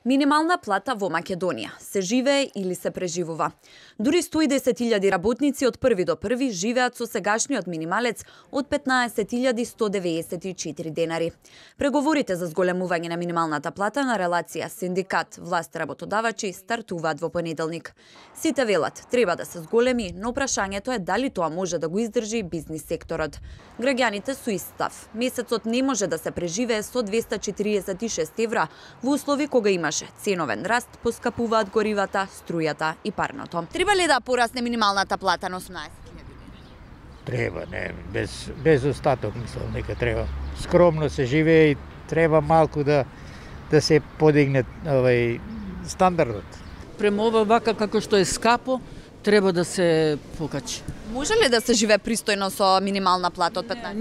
Минимална плата во Македонија. Се живее или се преживува? Дури 110.000 работници од први до први живеат со сегашниот минималец од 15.194 денари. Преговорите за зголемување на минималната плата на релација синдикат власт работодавачи стартуваат во понеделник. Сите велат треба да се зголеми, но прашањето е дали тоа може да го издржи бизнис секторот. Граѓаните су ист став. Месецот не може да се преживее со 246 евра во услови кога имаше ценовен раст, поскапуваат горивата, струјата и парното. Треба ли да порасне минималната плата на 18.000? Треба, не, без остаток, мислам, нека треба. Скромно се живее и треба малку да се подигне стандардот. Према ова вака како што е скапо, треба да се покачи. Може ли да се живее пристојно со минимална плата од 15?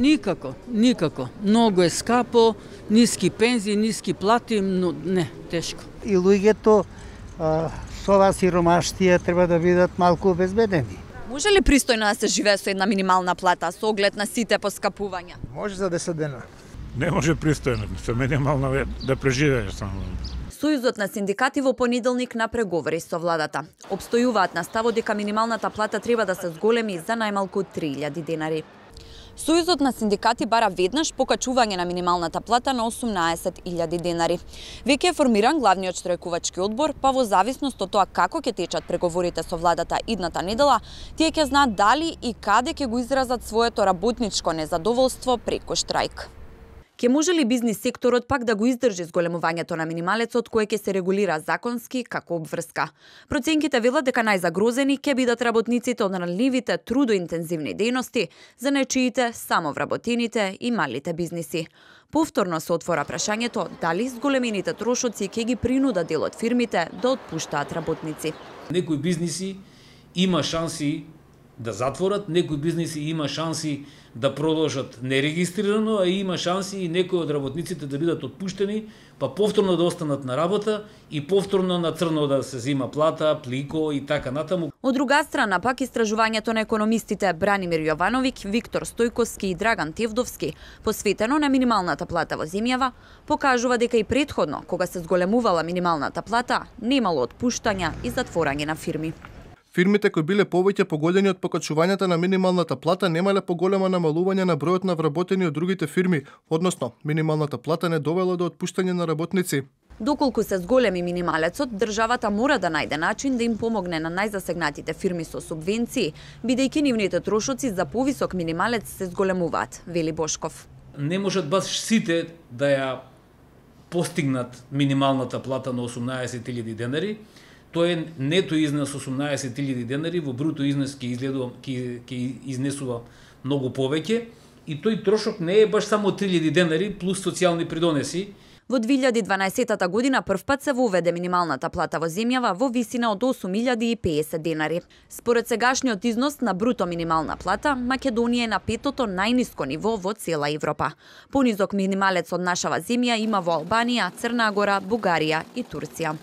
Никако. Многу е скапо, ниски пензии, ниски плати, но не, тешко. И луѓето со оваа сиромаштија треба да бидат малку обезбедени. Може ли пристојно да се живее со една минимална плата со оглед на сите поскапувања? Може за 10 дена. Не може пристојно, со минимална да преживееш само. Сојузот на синдикати во понеделник на преговори со владата. Обстојуваат на ставот дека минималната плата треба да се зголеми за најмалку 3.000 денари. Сојузот на синдикати бара веднаш покачување на минималната плата на 18.000 денари. Веќе е формиран главниот штрајкувачки одбор, па во зависност од тоа како ќе течат преговорите со владата идната недела, тие ќе знаат дали и каде ќе го изразат своето работничко незадоволство преку штрајк. Ке може ли бизнис секторот пак да го издржи зголемувањето на минималецот кое ќе се регулира законски како обврска? Проценките велат дека најзагрозени ќе бидат работниците од ранливите трудоинтензивни дејности, занечиите, самовработените и малите бизниси. Повторно се отвора прашањето дали зголемените трошоци ќе ги принудат дел од фирмите да отпуштаат работници. Некои бизниси има шанси да затворат, некои бизниси има шанси да продолжат нерегистрирано, а има шанси и некои од работниците да бидат отпуштени, па повторно да останат на работа и повторно на црно да се зима плата, плико и така натаму. Од друга страна, пак истражувањето на економистите Бранимир Јовановиќ, Виктор Стојковски и Драган Тевдовски, посветено на минималната плата во земјава, покажува дека и претходно, кога се зголемувала минималната плата, немало отпуштања и затворање на фирми. Фирмите кои биле повеќе погодени од покачувањето на минималната плата немале поголемо намалување на бројот на вработени од другите фирми, односно минималната плата не довела до отпуштање на работници. Доколку се зголеми минималецот, државата мора да најде начин да им помогне на најзасегнатите фирми со субвенции, бидејќи нивните трошоци за повисок минималец се зголемуваат, вели Бошков. Не можат баш сите да ја постигнат минималната плата на 18.000 денари. Тоа е нето изнес 18.000 денари, во бруто изнес ќе изнесува многу повеќе и тој трошок не е баш само 3.000 денари плюс социјални придонеси. Во 2012 година првпат се воведе минималната плата во земјава во висина од 8.050 денари. Според сегашниот износ на бруто минимална плата, Македонија е на петото најниско ниво во цела Европа. Понизок минималец од нашава земја има во Албанија, Црна Гора, Бугарија и Турција.